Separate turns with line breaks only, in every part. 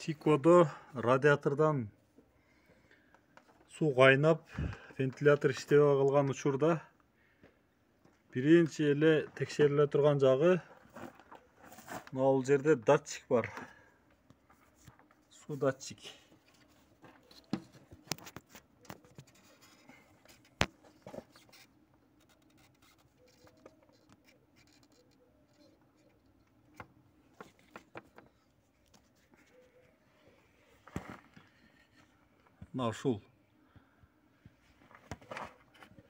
Сикодо радиатордан суу кайнап, вентилятор иштебей калган учурда биринчи эле текшериле турган жагы бул жерде датчик бар. Суу датчик. Ушул.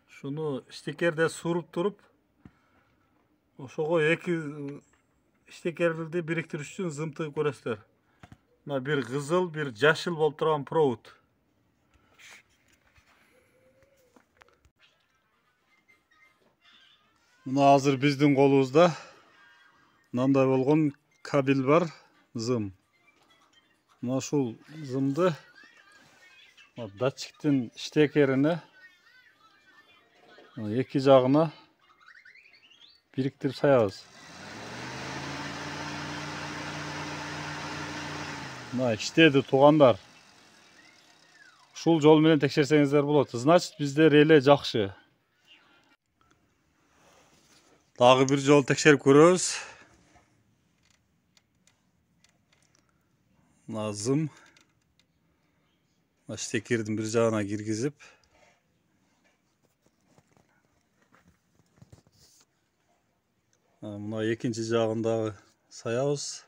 Шуну штекерде суруп туруп, ошого эки штекерди бириктириш үчүн зымтыгып көрөсүздөр. Мына бир кызыл, бир жашыл болуп турган провод. Мына азыр биздин колубузда мындай болгон кабель бар, зым. Мына ушул зымды датчиктин штекерине эки жагына бириктирип саябыз. Мына иштеди туугандар. Ушул жол менен текшерсеңиздер болот. Значит, бизде реле жакшы. Дагы бир жол текшерип көрөбүз. Мына зым. Штекердин бир жагына киргизип, мына экинчи жагындагы саябыз.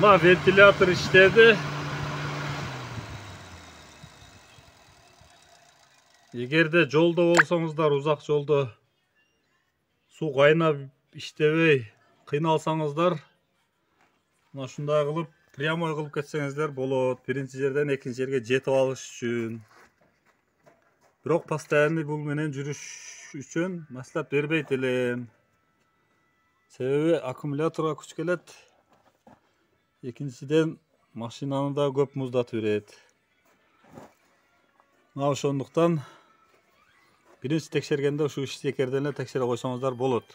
Мына вентилятор иштеди. Эгерде жолдо болсоңуздар, узак жолдо суу кайнап иштебей кыйналсаңыздар, мына ушундай кылып прямой кылып кетсеңиздер болот. Биринчи жерден экинчи жерге жетип алыш үчүн. Бирок постоянный бул менен жүрүш үчүн маслат бербейт элем. Себеби аккумуляторго күч келет. Экинчиден машинаны да көп муздатып берет. Мына ошондуктан биринчи текшергенде ушу штекерден эле текшере койсоңуздар болот.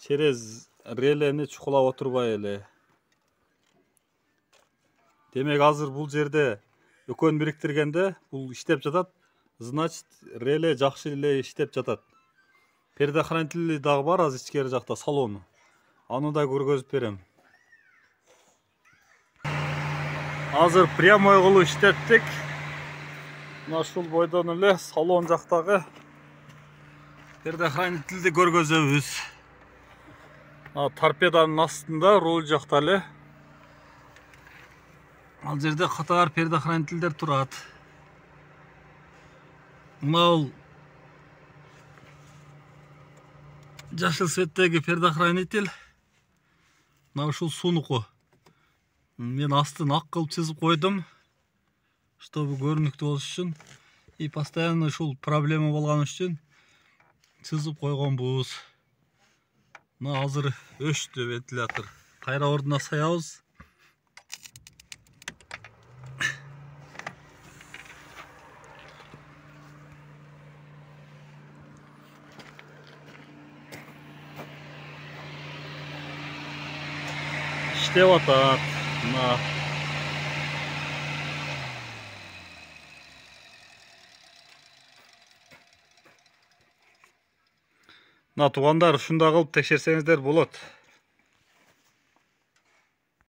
Через релени чукулап отурбай эле. Демек азыр бул жерде экөөнү бириктиргенде бул иштеп жатат. Значит, реле жакшы эле иштеп жатат. Предохранитель дагы бар азыр ичкери жакта, салону. Аны да көргөзүп берем. Азыр прямой кылып иштеттик. Мына ушул бойдон эле салон жактагы предохранительди көргөзөбүз. Торпеданын астында, руль жакта эле. Ал жерде катар предохранительдер турат. Мына жашыл цветтеги предохранитель. Мына ушул сунуку. Мен астын ак кылып чызып койдум, чтобы көрүнүктүү болуш үчүн. И постоянно ушул проблема болгон үчүн чызып койгонбуз. Мына азыр өчтү вентилятор. Кайра ордуна саябыз. İşte atat. Мына туугандар, ушундай кылып текшерсеңиздер болот.